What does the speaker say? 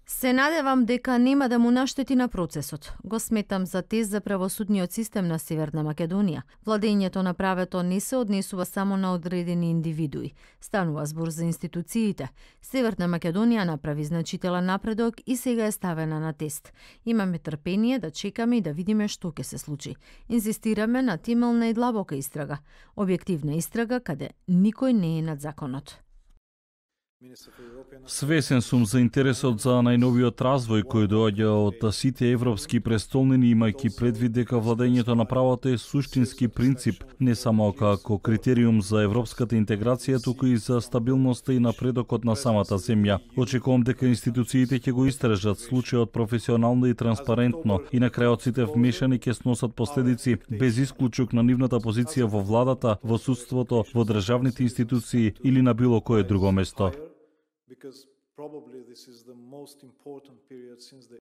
Се надевам дека нема да му наштети на процесот. Го сметам за тест за правосудниот систем на Северна Македонија. Владењето на правото не се однесува само на одредени индивидуи. Станува збор за институциите. Северна Македонија направи значителен напредок и сега е ставена на тест. Имаме трпение да чекаме и да видиме што ќе се случи. Инзистираме на темелна и длабока истрага. Објективна истрага каде никој не е над законот. Свесен сум за интересот за најновиот развој кој доаѓа од сите европски престолнини, имајќи предвид дека владењето на правото е суштински принцип не само како критериум за европската интеграција, туку и за стабилноста и напредокот на самата земја. Очекувам дека институциите ќе го истражат случајот професионално и транспарентно и на крајот сите вмешани ќе сносат последици без исклучок на нивната позиција во владата, во судството, во државните институции или на било кое друго место. Because probably this is the most important period since the